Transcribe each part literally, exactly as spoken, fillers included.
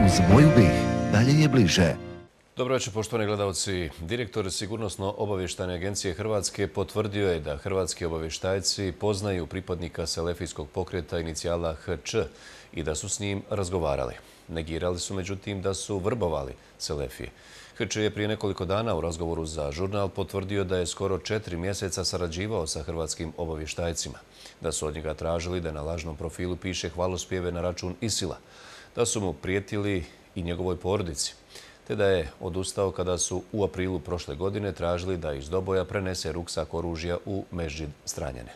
Uz moju bih, dalje je bliže. Dobro večer, poštovani gledalci. Direktor Sigurnosno-obavještajne agencije Hrvatske potvrdio je da hrvatski obavještajci poznaju pripadnika selefijskog pokreta inicijala H Č i da su s njim razgovarali. Negirali su međutim da su vrbovali selefije. H Č je prije nekoliko dana u razgovoru za žurnal potvrdio da je skoro četiri mjeseca sarađivao sa hrvatskim obavještajcima, da su od njega tražili da na lažnom profilu piše hvalospjeve na račun Isila, da su mu prijetili i njegovoj porodici, te da je odustao kada su u aprilu prošle godine tražili da iz Doboja prenese ruksak oružja u Mežđid Stranjane.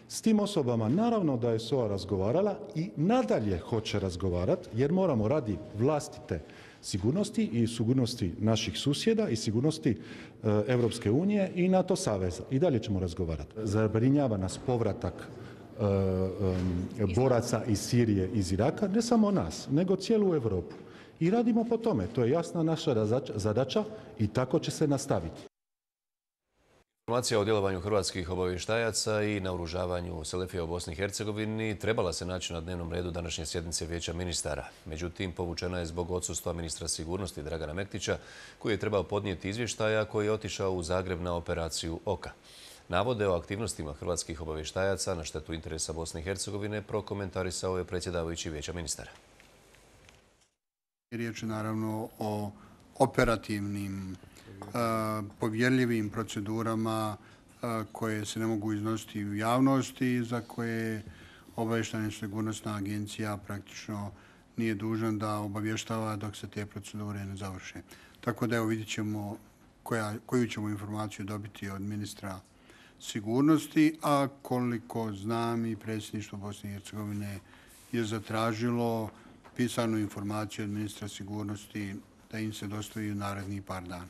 S tim osobama naravno da je S O A razgovarala i nadalje hoće razgovarati jer moramo radi vlastite sigurnosti i sigurnosti naših susjeda i sigurnosti Europske unije i NATO saveza. I dalje ćemo razgovarati. Zabrinjava nas povratak e, e, boraca iz Sirije, iz Iraka, ne samo nas, nego cijelu Europu. I radimo po tome. To je jasna naša zadaća i tako će se nastaviti. Informacija o djelovanju hrvatskih obavještajaca i naoružavanju selefija u Bosni i Hercegovini trebala se naći na dnevnom redu današnje sjednice Vijeća ministara. Međutim, povučena je zbog odsustva ministra sigurnosti Dragana Mektića, koji je trebao podnijeti izvještaja koji je otišao u Zagreb na operaciju Oka. Navode o aktivnostima hrvatskih obavještajaca na štetu interesa Bosne i Hercegovine prokomentarisao je predsjedavajući Vijeća ministara. Riječ je naravno o operativnim, povjerljivim procedurama koje se ne mogu iznositi u javnosti, za koje obavještajna sigurnosna agencija praktično nije dužna da obavještava dok se te procedure ne završe. Tako da evo vidjet ćemo koja, koju ćemo informaciju dobiti od ministra sigurnosti, a koliko znam i predsjedništvo Bosne i Hercegovine je zatražilo pisanu informaciju od ministra sigurnosti da im se dostavi u narednih par dana.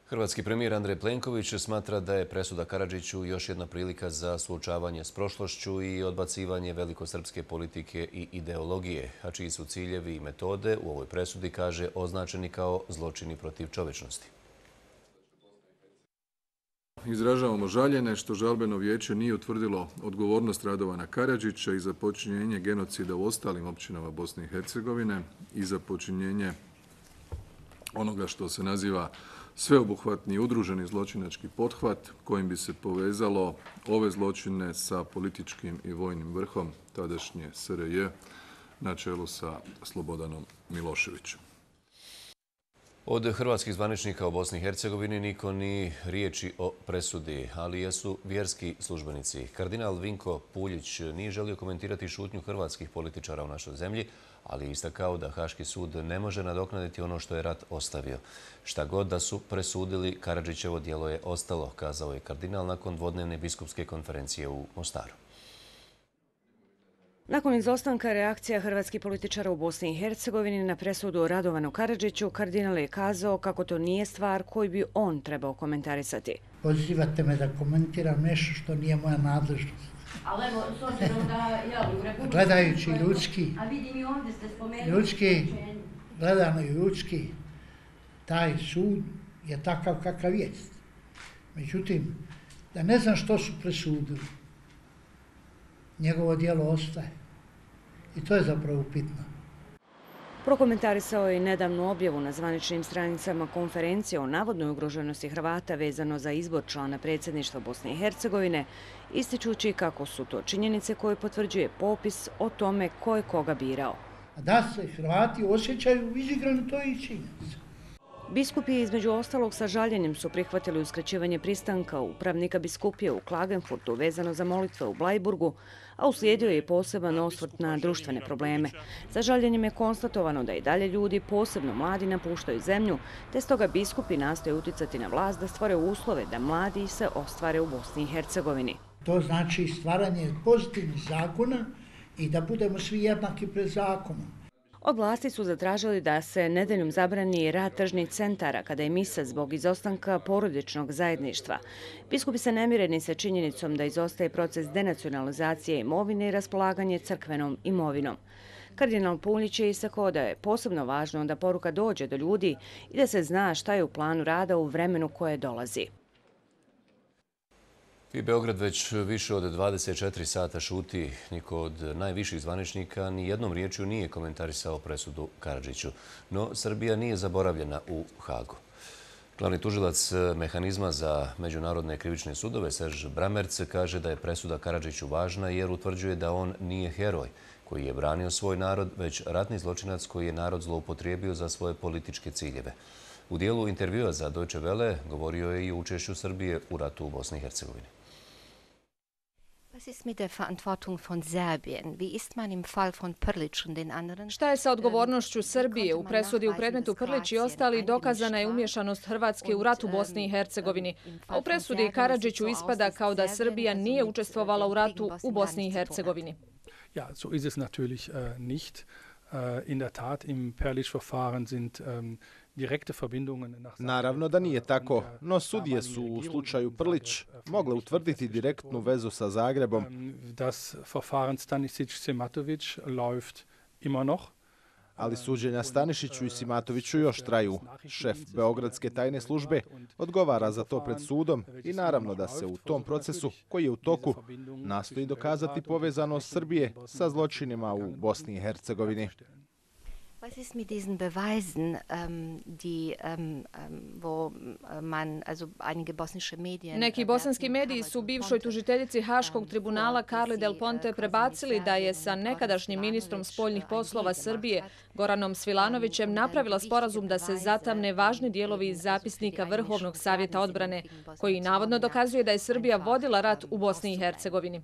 Hrvatski premijer Andrej Plenković smatra da je presuda Karadžiću još jedna prilika za suočavanje s prošlošću i odbacivanje velikosrpske politike i ideologije, a čiji su ciljevi i metode u ovoj presudi, kaže, označeni kao zločini protiv čovječnosti. Izražavamo žaljenje što žalbeno vijeće nije utvrdilo odgovornost Radovana Karadžića i za počinjenje genocida u ostalim općinama Bosne i Hercegovine i za počinjenje onoga što se naziva sveobuhvatni udruženi zločinački pothvat kojim bi se povezalo ove zločine sa političkim i vojnim vrhom tadašnje S R J na čelu sa Slobodanom Miloševićem. Od hrvatskih zvaničnika u Bosni i Hercegovini niko ni riječi o presudi, ali jesu vjerski službenici. Kardinal Vinko Puljić nije želio komentirati šutnju hrvatskih političara u našoj zemlji, ali je istakao da Haški sud ne može nadoknaditi ono što je rat ostavio. Šta god da su presudili, Karadžićevo djelo je ostalo, kazao je kardinal nakon dvodnevne biskupske konferencije u Mostaru. Nakon izostanka reakcija hrvatskih političara u Bosni i Hercegovini na presudu Radovanu Karadžiću, kardinal je kazao kako to nije stvar koju bi on trebao komentarisati. Pozivate me da komentiram nešto što nije moja nadležnost. Ali evo, s obzirom da ja u Republike... Gledajući ljudski, a vidim i ovdje ste spomenuli... Ljudski, gledano i ljudski, taj sud je takav kakav jest. Međutim, da ne znam što su presudili, njegovo djelo ostaje. I to je zapravo upitno. Prokomentarisao je i nedavnu objavu na zvaničnim stranicama konferencije o navodnoj ugroženosti Hrvata vezano za izbor člana predsjedništva Bosne i Hercegovine, ističući kako su to činjenice koje potvrđuje popis o tome ko je koga birao. A da se Hrvati osjećaju izigrani, to je i činjenica. Biskupi između ostalog sa žaljenjem su prihvatili uskraćivanje pristanka upravnika biskupije u Klagenfurtu vezano za molitve u Blajburgu, a uslijedio je i poseban osvrt na društvene probleme. Sa žaljenjem je konstatovano da i dalje ljudi, posebno mladi, napuštaju zemlju, te stoga biskupi nastoje uticati na vlast da stvore uslove da mladi se ostvare u Bosni i Hercegovini. To znači stvaranje pozitivnih zakona i da budemo svi jednaki pred zakonom. Od vlasti su zatražili da se nedeljom zabrani rad tržnih centara kada je misa zbog izostanka porodičnog zajedništva. Biskupi se ne mire ni sa činjenicom da izostaje proces denacionalizacije imovine i raspolaganje crkvenom imovinom. Kardinal Puljić je istakao da je posebno važno da poruka dođe do ljudi i da se zna šta je u planu rada u vremenu koje dolazi. I Beograd već više od dvadeset četiri sata šuti. Niko od najviših zvaničnika ni jednom riječju nije komentarisao presudu Karadžiću. No, Srbija nije zaboravljena u Hagu. Glavni tužilac mehanizma za međunarodne krivične sudove Serž Bramerc kaže da je presuda Karadžiću važna jer utvrđuje da on nije heroj koji je branio svoj narod, već ratni zločinac koji je narod zloupotrijebio za svoje političke ciljeve. U dijelu intervjua za Deutsche Welle govorio je i o učešću Srbije u ratu u Bosni i Hercegovini. Šta je sa odgovornošću Srbije? U presudi u predmetu Prlić i ostali dokazana je umješanost Hrvatske u ratu u Bosni i Hercegovini. A u presudi Karadžiću ispada kao da Srbija nije učestvovala u ratu u Bosni i Hercegovini. Ja, so ist es natürlich äh, nicht. Äh, in der Tat, im Perlić-Verfahren sind ähm, direkte Verbindungen nach... Naravno da nije tako, no sudije su u slučaju Prlić mogle utvrditi direktnu vezu sa Zagrebom. Das Verfahren Stanisić-Simatović läuft immer noch. Ali suđenja Stanišiću i Simatoviću još traju. Šef Beogradske tajne službe odgovara za to pred sudom i naravno da se u tom procesu, koji je u toku, nastoji dokazati povezanost Srbije sa zločinima u Bosni i Hercegovini. Was ist mit diesen Beweisen, ähm, die, ähm, wo man, also einige bosnische Medien... Neki bosanski mediji su bivšoj tužiteljici Haškog tribunala Carli Del Ponte prebacili da je sa nekadašnjim ministrom spoljnih poslova Srbije Goranom Svilanovićem napravila sporazum da se zatamne važni dijelovi iz zapisnika Vrhovnog savjeta odbrane, koji navodno dokazuje da je Srbija vodila rat u Bosni i Hercegovini.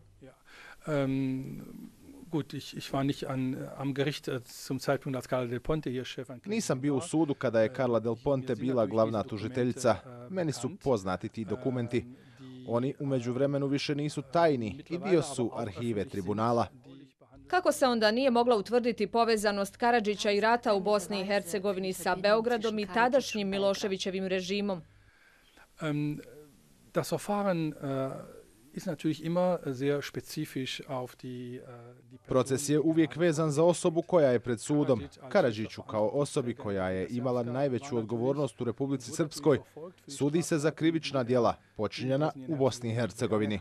Gut, ich, ich war nicht an, am Gericht zum Zeitpunkt, als Carla Del Ponte hier Chef. Nisam bio u sudu kada je Carla Del Ponte bila glavna tužiteljica. Meni su poznati ti dokumenti. Oni u međuvremenu više nisu tajni i dio su arhive tribunala. Kako se onda nije mogla utvrditi povezanost Karadžića i rata u Bosni i Hercegovini sa Beogradom i tadašnjim Miloševićevim režimom? Um, das Verfahren uh, ist natürlich immer sehr spezifisch auf die, die Proces je uvijek vezan za osobu koja je pred sudom. Karadžiću kao osobi koja je imala najveću odgovornost u Republici Srpskoj sudi se za krivična djela počinjena u Bosni i Hercegovini.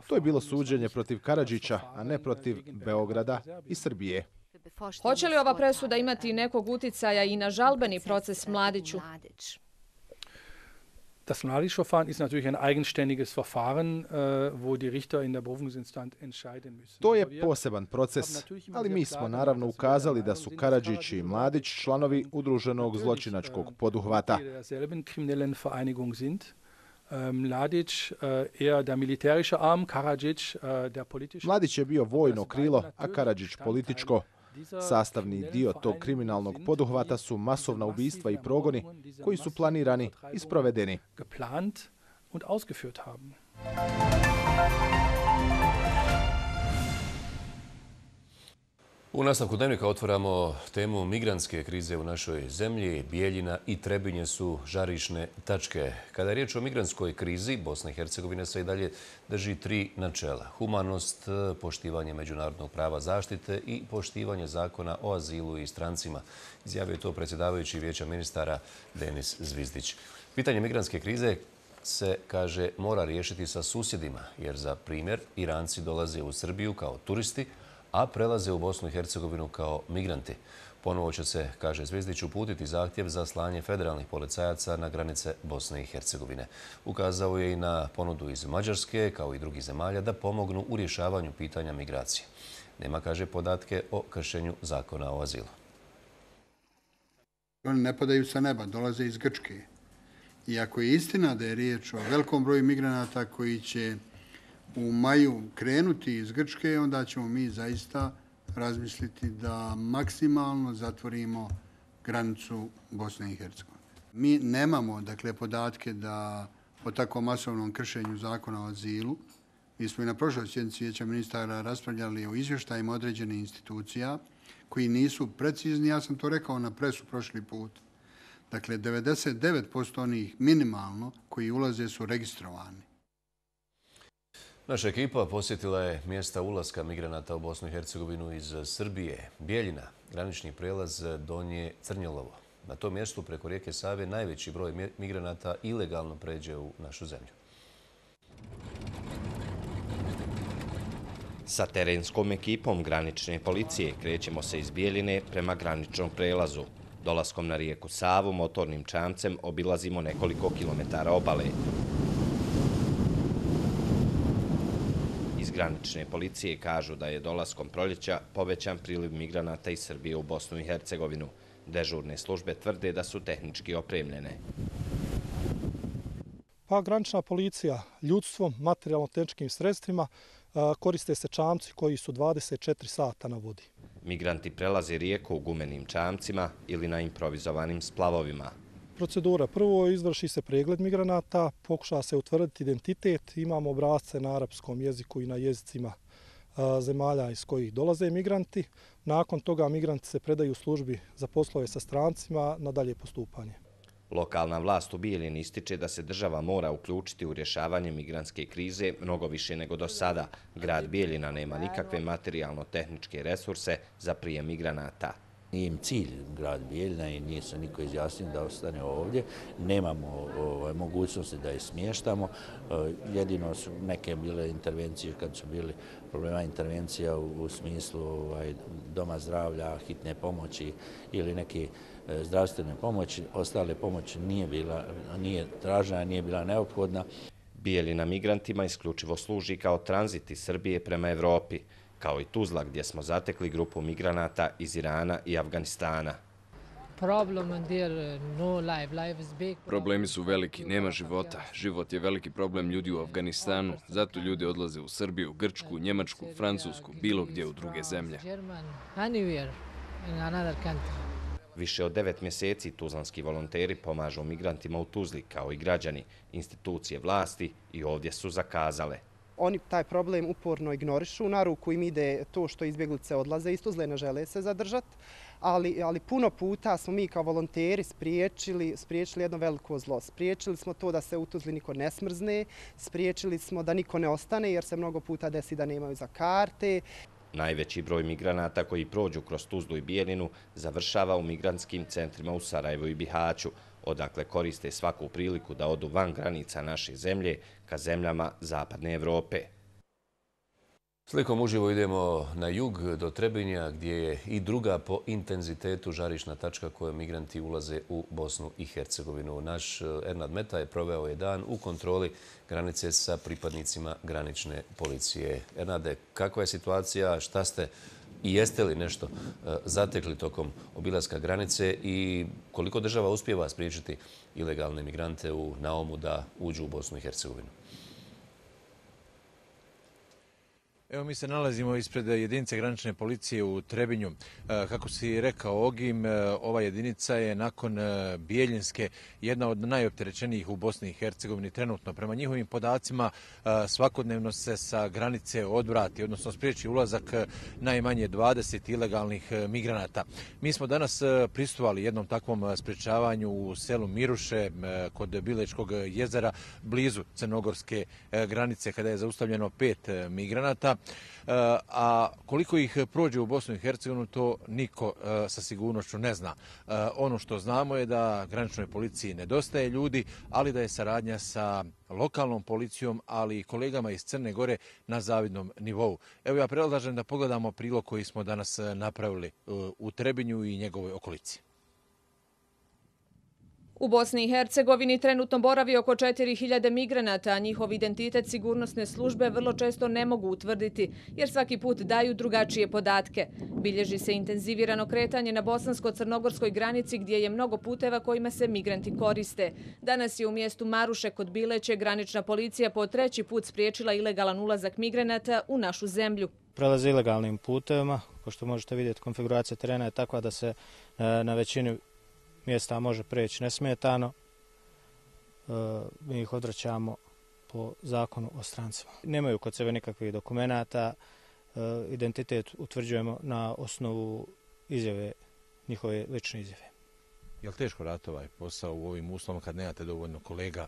To je bilo suđenje protiv Karadžića, a ne protiv Beograda i Srbije. Hoće li ova presuda imati nekog uticaja i na žalbeni proces Mladiću? Das Mladić-Verfahren ist natürlich ein eigenständiges Verfahren, wo die Richter in der Berufungsinstanz entscheiden müssen. To je poseban proces, ali mi smo naravno ukazali da su Karadžić i Mladić članovi udruženog zločinačkog poduhvata. Derselben kriminellen Vereinigung sind. Mladić eher der militärische Arm, Karadžić der politische. Mladić je bio vojno krilo, a Karadžić političko. Sastavni dio tog kriminalnog poduhvata su masovna ubistva i progoni koji su planirani i sprovedeni. Geplant und ausgeführt haben. U nastavku dnevnika otvaramo temu migrantske krize u našoj zemlji. Bijeljina i Trebinje su žarišne tačke. Kada je riječ o migrantskoj krizi, Bosna i Hercegovina se i dalje drži tri načela. Humanost, poštivanje međunarodnog prava zaštite i poštivanje zakona o azilu i strancima. Izjavio je to predsjedavajući Vijeća ministara Denis Zvizdić. Pitanje migrantske krize se, kaže, mora riješiti sa susjedima, jer za primjer Iranci dolaze u Srbiju kao turisti, a prelaze u Bosnu i Hercegovinu kao migranti. Ponovo će se, kaže Zvizdić, uputiti zahtjev za slanje federalnih policajaca na granice Bosne i Hercegovine. Ukazao je i na ponudu iz Mađarske, kao i drugih zemalja, da pomognu u rješavanju pitanja migracije. Nema, kaže, podatke o kršenju zakona o azilu. Oni ne padaju sa neba, dolaze iz Grčke. I ako je istina da je riječ o velikom broju migranata koji će u maju krenuti iz Grčke, onda ćemo mi zaista razmisliti da maksimalno zatvorimo granicu Bosne i Hercegovine. Mi nemamo, dakle, podatke da o tako masovnom kršenju zakona o azilu. Mi smo i na prošloj sjednici Vijeća ministara raspravljali o izvještajima određenih institucija koji nisu precizni. Ja sam to rekao na presu prošli put. Dakle, devedeset devet posto onih minimalno koji ulaze su registrovani. Naša ekipa posjetila je mjesta ulaska migranata u Bosnu i Hercegovinu iz Srbije. Bijeljina, granični prijelaz Donje Crnjelovo. Na tom mjestu preko rijeke Save najveći broj migranata ilegalno pređe u našu zemlju. Sa terenskom ekipom granične policije krećemo se iz Bijeljine prema graničnom prelazu. Dolaskom na rijeku Savu motornim čamcem obilazimo nekoliko kilometara obale. Iz granične policije kažu da je dolaskom proljeća povećan priliv migranata iz Srbije u Bosnu i Hercegovinu. Dežurne službe tvrde da su tehnički opremljene. Pa granična policija ljudstvom, materijalno-tehničkim sredstvima koriste se čamci koji su dvadeset četiri sata na vodi. Migranti prelaze rijeku u gumenim čamcima ili na improvizovanim splavovima. Procedura. Prvo izvrši se pregled migranata, pokuša se utvrditi identitet, imamo obrasce na arapskom jeziku i na jezicima zemalja iz kojih dolaze migranti. Nakon toga migranti se predaju službi za poslove sa strancima na dalje postupanje. Lokalna vlast u Bijeljini ističe da se država mora uključiti u rješavanje migrantske krize mnogo više nego do sada. Grad Bijeljina nema nikakve materijalno-tehničke resurse za prijem migranata. Nije im cilj grad Bijeljina i nije se niko izjasnio da ostane ovdje. Nemamo ovaj, mogućnosti da je smještamo. Jedino su neke bile intervencije kad su bili problema intervencija u, u smislu ovaj, doma zdravlja, hitne pomoći ili neke zdravstvene pomoći. Ostale pomoći nije bila, nije tražena, nije bila neophodna. Bijeljina migrantima isključivo služi kao tranzit iz Srbije prema Evropi, kao i Tuzla gdje smo zatekli grupu migranata iz Irana i Afganistana. Problemi su veliki, nema života. Život je veliki problem ljudi u Afganistanu, zato ljudi odlaze u Srbiju, Grčku, Njemačku, Francusku, bilo gdje u druge zemlje. Više od devet mjeseci tuzlanski volonteri pomažu migrantima u Tuzli, kao i građani, institucije vlasti i ovdje su zakazale. Oni taj problem uporno ignorišu, na ruku im ide to što izbjeglice odlaze iz Tuzle, ne žele se zadržati, ali, ali puno puta smo mi kao volonteri spriječili, spriječili jedno veliko zlo. Spriječili smo to da se u Tuzli niko ne smrzne, spriječili smo da niko ne ostane jer se mnogo puta desi da nemaju za karte. Najveći broj migranata koji prođu kroz Tuzlu i Bijeljinu završava u migrantskim centrima u Sarajevu i Bihaću, odakle koriste svaku priliku da odu van granica naše zemlje ka zemljama Zapadne Evrope. Slikom uživo idemo na jug do Trebinja gdje je i druga po intenzitetu žarišna tačka kojom migranti ulaze u Bosnu i Hercegovinu. Naš Ernad Meta je proveo je dan u kontroli granice sa pripadnicima granične policije. Ernade, kakva je situacija, šta ste i jeste li nešto zatekli tokom obilaska granice i koliko država uspijeva spriječiti ilegalne migrante u naumu da uđu u Bosnu i Hercegovinu? Evo mi se nalazimo ispred jedinice granične policije u Trebinju. Kako si rekao Ogim, ova jedinica je nakon Bijeljinske jedna od najopterećenijih u Bosni i Hercegovini trenutno. Prema njihovim podacima svakodnevno se sa granice odvrati, odnosno spriječi ulazak najmanje dvadeset ilegalnih migranata. Mi smo danas prisustvovali jednom takvom sprječavanju u selu Miruše kod Bilečkog jezera blizu crnogorske granice kada je zaustavljeno pet migranata. A koliko ih prođe u Bosnu i Hercegovinu, to niko sa sigurnošću ne zna. Ono što znamo je da graničnoj policiji nedostaje ljudi, ali da je saradnja sa lokalnom policijom, ali i kolegama iz Crne Gore na zavidnom nivou. Evo ja predlažem da pogledamo prilog koji smo danas napravili u Trebinju i njegovoj okolici. U Bosni i Hercegovini trenutno boravi oko četiri hiljade migranata, a njihov identitet sigurnosne službe vrlo često ne mogu utvrditi, jer svaki put daju drugačije podatke. Bilježi se intenzivirano kretanje na bosansko-crnogorskoj granici gdje je mnogo puteva kojima se migranti koriste. Danas je u mjestu Maruše kod Bileće granična policija po treći put spriječila ilegalan ulazak migranata u našu zemlju. Prelaze ilegalnim putevima, kao što možete vidjeti, konfiguracija terena je takva da se na većini mjesta može preći nesmetano. Mi ih odvraćamo po zakonu o strancima. Nemaju kod sebe nikakvih dokumenata, identitet utvrđujemo na osnovu izjave, njihove lične izjave. Je li teško raditi ovaj posao u ovim uslovima kad nemate dovoljno kolega?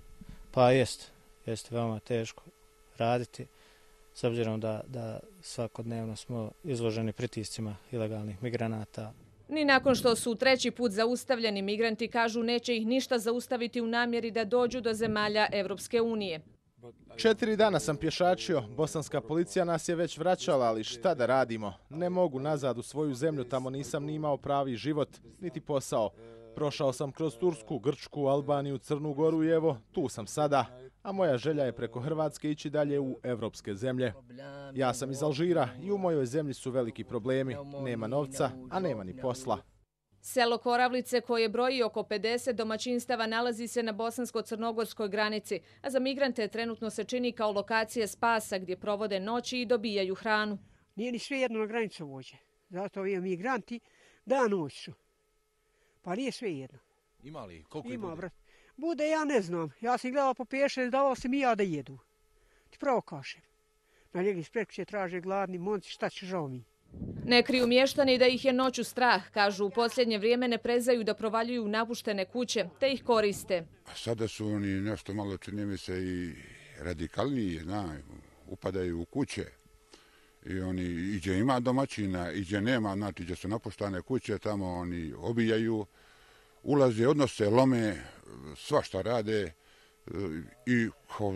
Pa jest, jest veoma teško raditi, s obzirom da, da svakodnevno smo izloženi pritiscima ilegalnih migranata. Ni nakon što su treći put zaustavljeni, migranti kažu neće ih ništa zaustaviti u namjeri da dođu do zemalja Evropske unije. Četiri dana sam pješačio, bosanska policija nas je već vraćala, ali šta da radimo? Ne mogu nazad u svoju zemlju, tamo nisam ni imao pravi život, niti posao. Prošao sam kroz Tursku, Grčku, Albaniju, Crnu Goru i evo, tu sam sada. A moja želja je preko Hrvatske ići dalje u evropske zemlje. Ja sam iz Alžira i u mojoj zemlji su veliki problemi. Nema novca, a nema ni posla. Selo Koravlice, koje broji oko pedeset domaćinstava, nalazi se na bosansko-crnogorskoj granici, a za migrante trenutno se čini kao lokacija spasa gdje provode noći i dobijaju hranu. Nije ni sve jedno na granicu vođe. Zato ovi migranti da noć su. Pa nije sve jedno. Ima li? Koliko Ima, ih bude? Brat. Bude, ja ne znam. Ja sam gledao po peše, davao sam i ja da jedu. Ti pravo kažem. Na njegi spreko će traže gladni monci, šta će žao mi. Ne kriju mještani da ih je noću strah. Kažu, u posljednje vrijeme ne prezaju da provaljuju napuštene kuće, te ih koriste. Sada su oni nešto malo, čini mi se, i radikalniji, zna, upadaju u kuće. I oni, iđe ima domaćina, iđe nema, znači gdje su napuštane kuće, tamo oni obijaju, ulaze, odnose, lome, svašta rade i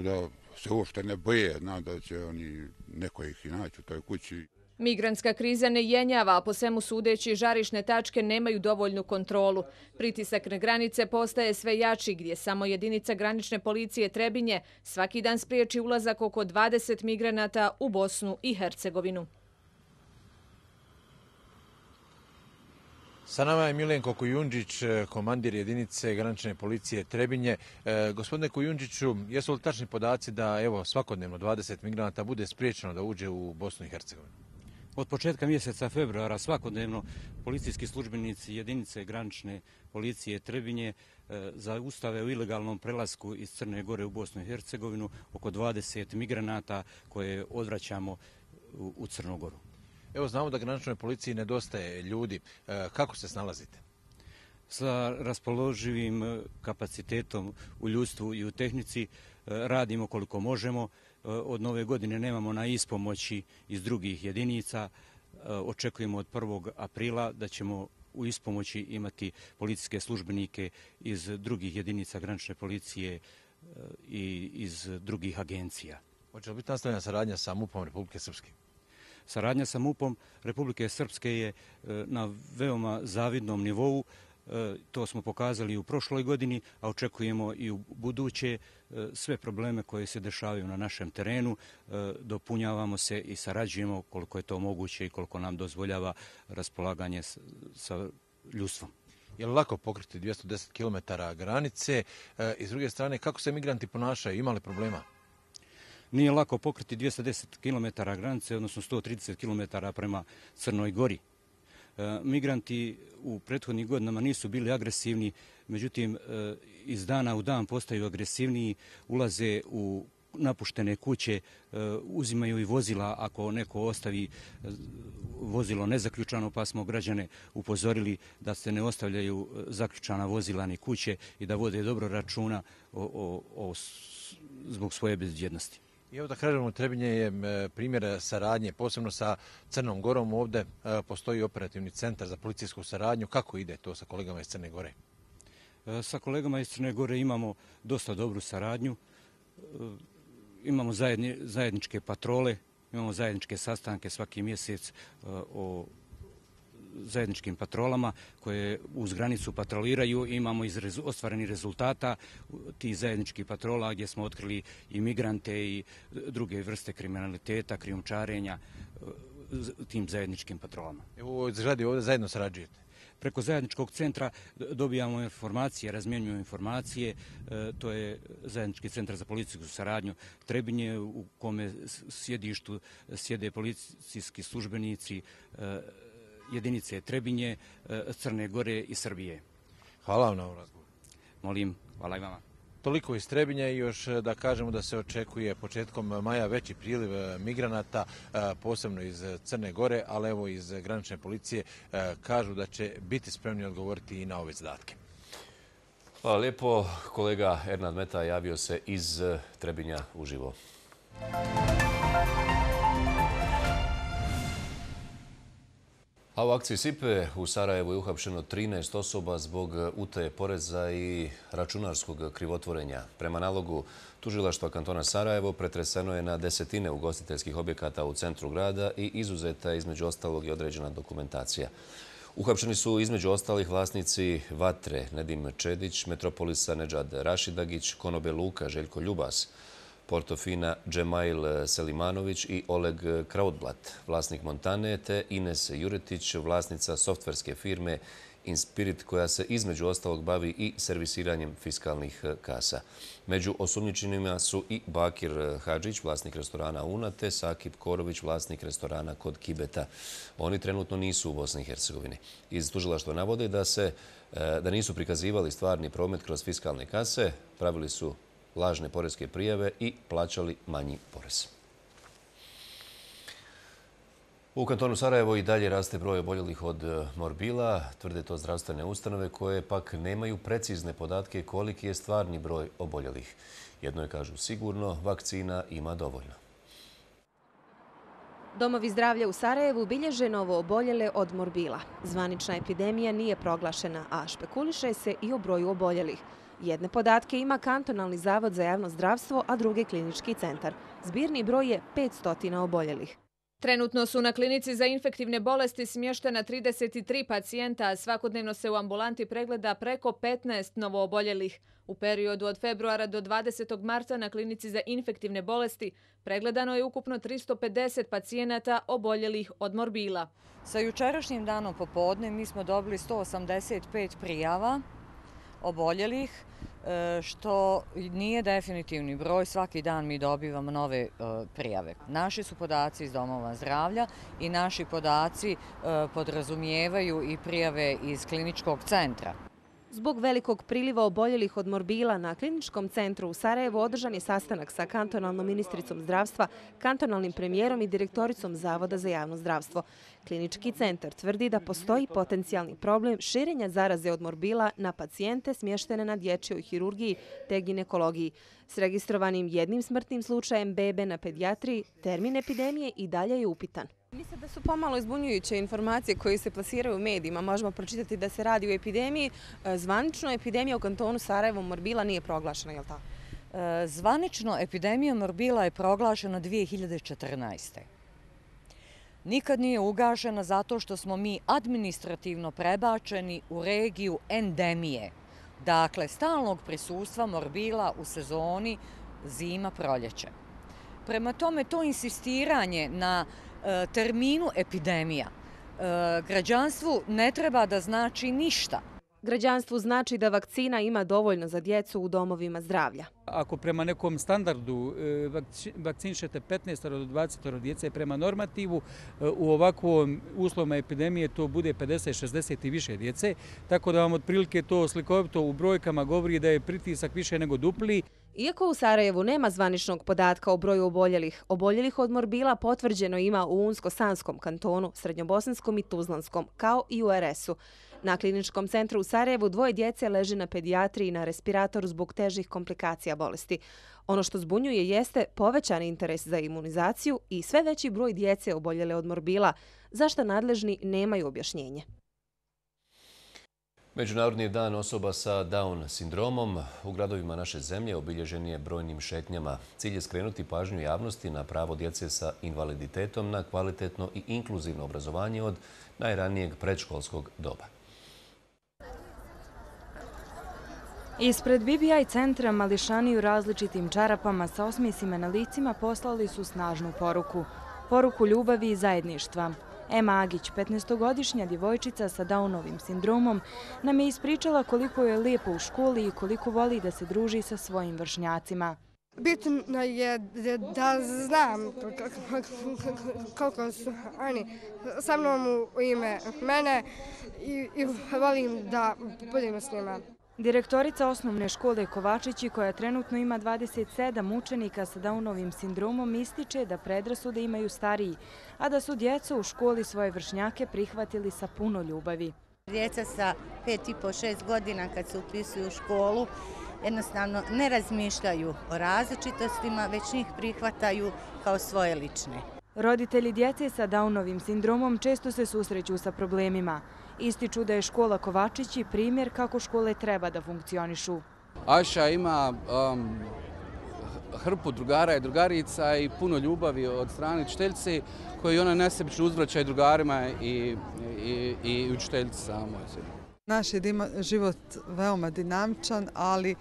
da se uopšte ne boje, zna da će oni neko ih i naći u toj kući. Migrantska kriza ne jenjava, a po svemu sudeći žarišne tačke nemaju dovoljnu kontrolu. Pritisak na granice postaje sve jači, gdje samo jedinica granične policije Trebinje svaki dan spriječi ulazak oko dvadeset migranata u Bosnu i Hercegovinu. Sa nama je Milenko Kujundžić, komandir jedinice granične policije Trebinje. E, gospodine Kujundžiću, jesu li tačni podaci da evo svakodnevno dvadeset migranata bude spriječeno da uđe u Bosnu i Hercegovinu? Od početka mjeseca februara svakodnevno policijski službenici jedinice granične policije Trebinje e, zaustave u ilegalnom prelasku iz Crne Gore u Bosnu i Hercegovinu oko dvadeset migranata koje odvraćamo u, u Crnu Goru. Evo, znamo da graničnoj policiji nedostaje ljudi. E, kako se snalazite? Sa raspoloživim kapacitetom u ljudstvu i u tehnici radimo koliko možemo. Od nove godine nemamo na ispomoći iz drugih jedinica. Očekujemo od prvog aprila da ćemo u ispomoći imati policijske službenike iz drugih jedinica granične policije i iz drugih agencija. Hoće li biti nastavljena saradnja sa MUP-om Republike Srpske? Saradnja sa MUP-om Republike Srpske je na veoma zavidnom nivou. To smo pokazali u prošloj godini, a očekujemo i u buduće. Sve probleme koje se dešavaju na našem terenu dopunjavamo se i sarađujemo koliko je to moguće i koliko nam dozvoljava raspolaganje sa ljudstvom. Je li lako pokriti dvjesto deset kilometara granice? I s druge strane, kako se migranti ponašaju? Ima li problema? Nije lako pokriti dvjesto deset kilometara granice, odnosno sto trideset kilometara prema Crnoj Gori. Migranti u prethodnih godinama nisu bili agresivni, međutim iz dana u dan postaju agresivniji, ulaze u napuštene kuće, uzimaju i vozila ako neko ostavi vozilo nezaključano, pa smo građane upozorili da se ne ostavljaju zaključana vozila ni kuće i da vode dobro računa o, o, o, zbog svoje bezbjednosti. I evo da kažemo, Trebinje je primjer saradnje, posebno sa Crnom Gorom. Ovdje postoji operativni centar za policijsku saradnju. Kako ide to sa kolegama iz Crne Gore? Sa kolegama iz Crne Gore imamo dosta dobru saradnju. Imamo zajedni, zajedničke patrole, imamo zajedničke sastanke svaki mjesec o zajedničkim patrolama koje uz granicu patroliraju. Imamo iz rezu, ostvarenih rezultata tih zajedničkih patrola gdje smo otkrili i migrante i druge vrste kriminaliteta, krijumčarenja tim zajedničkim patrolama. Evo, zgradi ovdje zajedno sarađujete? Preko zajedničkog centra dobijamo informacije, razmjenjujemo informacije. To je zajednički centar za policijsku saradnju Trebinje u kome sjedištu sjede policijski službenici jedinice Trebinje, Crne Gore i Srbije. Hvala vam na ovom razgovoru. Molim, hvala i vama. Toliko iz Trebinja i još da kažemo da se očekuje početkom maja veći priliv migranata, posebno iz Crne Gore, ali evo iz granične policije kažu da će biti spremni odgovoriti i na ove zadatke. Hvala lijepo. Kolega Ernad Meta javio se iz Trebinja uživo. A u akciji Sipe u Sarajevu je uhapšeno trinaest osoba zbog utaje poreza i računarskog krivotvorenja. Prema nalogu tužilaštva kantona Sarajevo pretreseno je na desetine ugostiteljskih objekata u centru grada i izuzeta je između ostalog i određena dokumentacija. Uhapšeni su između ostalih vlasnici Vatre, Nedim Čedić, Metropolisa Nedžad Rašidagić, Konobe Luka Željko Ljubas, Portofina Džemail Selimanović i Oleg Krautblat, vlasnik Montane, te Ines Juretić, vlasnica softverske firme Inspirit, koja se između ostalog bavi i servisiranjem fiskalnih kasa. Među osumnjičenima su i Bakir Hadžić, vlasnik restorana Una, te Sakip Korović, vlasnik restorana Kod Kibeta. Oni trenutno nisu u Bosni i Hercegovini. Iz tužilaštva navode da se da nisu prikazivali stvarni promet kroz fiskalne kase, pravili su lažne poreske prijave i plaćali manji porez. U kantonu Sarajevo i dalje raste broj oboljelih od morbila, tvrde to zdravstvene ustanove koje pak nemaju precizne podatke koliki je stvarni broj oboljelih. Jedno je, kažu, sigurno, vakcina ima dovoljno. Domovi zdravlja u Sarajevu bilježe novo oboljele od morbila. Zvanična epidemija nije proglašena, a špekuliše se i o broju oboljelih. Jedne podatke ima Kantonalni zavod za javno zdravstvo, a druge klinički centar. Zbirni broj je petsto oboljelih. Trenutno su na klinici za infektivne bolesti smještena trideset tri pacijenta, a svakodnevno se u ambulanti pregleda preko petnaest novooboljelih. U periodu od februara do dvadesetog marta na klinici za infektivne bolesti pregledano je ukupno tristo pedeset pacijenata oboljelih od morbila. Sa jučerašnjim danom popodne mi smo dobili sto osamdeset pet prijava oboljelih, što nije definitivni broj. Svaki dan mi dobivamo nove prijave. Naši su podaci iz domova zdravlja i naši podaci podrazumijevaju i prijave iz kliničkog centra. Zbog velikog priliva oboljelih od morbila na kliničkom centru u Sarajevu održan je sastanak sa kantonalnom ministricom zdravstva, kantonalnim premijerom i direktoricom Zavoda za javno zdravstvo. Klinički centar tvrdi da postoji potencijalni problem širenja zaraze od morbila na pacijente smještene na dječjoj hirurgiji te ginekologiji. S registrovanim jednim smrtnim slučajem bebe na pedijatriji, termin epidemije i dalje je upitan. Mislim da su pomalo izbunjujuće informacije koje se plasiraju u medijima. Možemo pročitati da se radi o epidemiji. Zvanično epidemija u kantonu Sarajevo morbila nije proglašena, je li tako? Zvanično epidemija morbila je proglašena dvije hiljade četrnaeste. Nikad nije ugašena zato što smo mi administrativno prebačeni u regiju endemije. Dakle, stalnog prisustva morbila u sezoni zima-proljeće. Prema tome, to insistiranje na terminu epidemija građanstvu ne treba da znači ništa. Građanstvu znači da vakcina ima dovoljno za djecu u domovima zdravlja. Ako prema nekom standardu vakcinišete petnaest do dvadeset djece prema normativu, u ovakvom uslovima epidemije to bude pedeset šezdeset i više djece, tako da vam otprilike to slikovito u brojkama govori da je pritisak više nego dupli. Iako u Sarajevu nema zvaničnog podatka o broju oboljelih, oboljelih od morbila potvrđeno ima u Unsko-Sanskom kantonu, Srednjobosanskom i Tuzlanskom, kao i u er es-u. Na kliničkom centru u Sarajevu dvoje djece leži na pedijatriji na respiratoru zbog težih komplikacija bolesti. Ono što zbunjuje jeste povećan interes za imunizaciju i sve veći broj djece oboljele od morbila, za što nadležni nemaju objašnjenje. Međunarodni dan osoba sa Down sindromom u gradovima naše zemlje obilježen je brojnim šetnjama. Cilj je skrenuti pažnju javnosti na pravo djece sa invaliditetom na kvalitetno i inkluzivno obrazovanje od najranijeg predškolskog doba. Ispred B B I centra mališani u različitim čarapama sa osmijesima na licima poslali su snažnu poruku. Poruku ljubavi i zajedništva. Ema Agić, petnaestogodišnja djevojčica sa Downovim sindromom, nam je ispričala koliko je lijepo u školi i koliko voli da se druži sa svojim vršnjacima. Bitno je da znam koliko su oni sa mnom u ime mene i volim da budem s njima. Direktorica osnovne škole Kovačići, koja trenutno ima dvadeset sedam učenika sa Downovim sindromom, ističe da predrasude imaju stariji, a da su djecu u školi svoje vršnjake prihvatili sa puno ljubavi. Djeca sa pet i po šest godina kad se upisuju u školu jednostavno ne razmišljaju o različitostima, već njih prihvataju kao svoje lične. Roditelji djece sa Downovim sindromom često se susreću sa problemima. Ističu da je škola Kovačići primjer kako škole treba da funkcionišu. Aša ima um, hrpu drugara i drugarica i puno ljubavi od strane učiteljice koju ona nesebično uzvraća i drugarima i, i, i učiteljici samoj. Naš je život veoma dinamičan, ali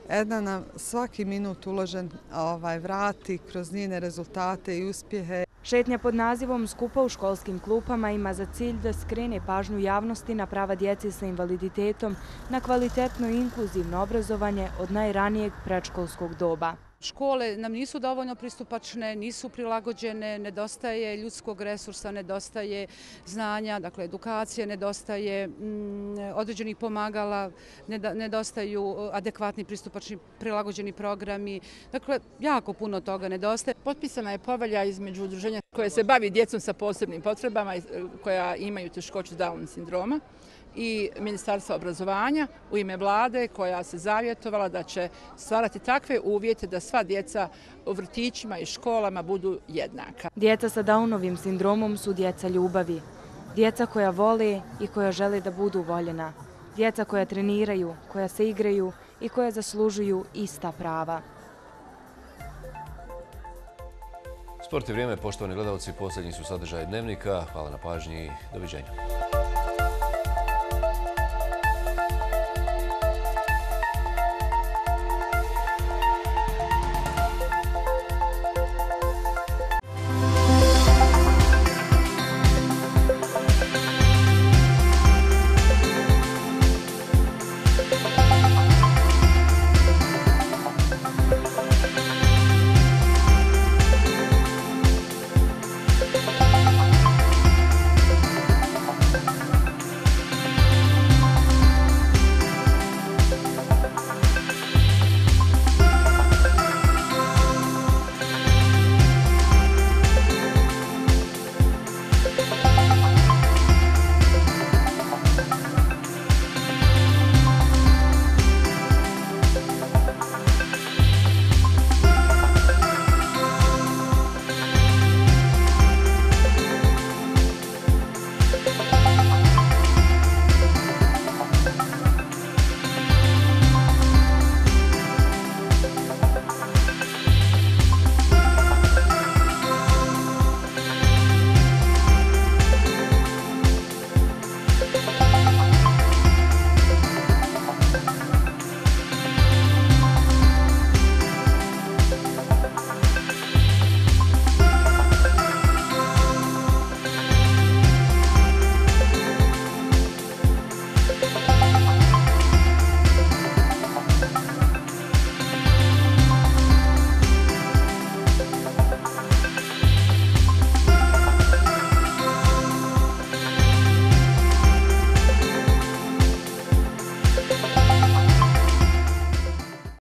Edna nam svaki minut uložen ovaj, vrati kroz njene rezultate i uspjehe. Šetnja pod nazivom Skupa u školskim klupama ima za cilj da skrene pažnju javnosti na prava djece sa invaliditetom, na kvalitetno i inkluzivno obrazovanje od najranijeg predškolskog doba. Škole nam nisu dovoljno pristupačne, nisu prilagođene, nedostaje ljudskog resursa, nedostaje znanja, dakle edukacije, nedostaje mm, određenih pomagala, nedostaju adekvatni pristupačni prilagođeni programi. Dakle, jako puno toga nedostaje. Potpisana je povelja između udruženja koje se bavi djecom sa posebnim potrebama, koja imaju teškoću Down sindroma, i Ministarstva obrazovanja u ime vlade koja se zavjetovala da će stvarati takve uvjete da sva djeca u vrtićima i školama budu jednaka. Djeca sa Downovim sindromom su djeca ljubavi. Djeca koja vole i koja žele da budu voljena. Djeca koja treniraju, koja se igraju i koja zaslužuju ista prava. Sport i vrijeme, poštovani gledalci, posljednji su sadržaj Dnevnika. Hvala na pažnji i doviđenja.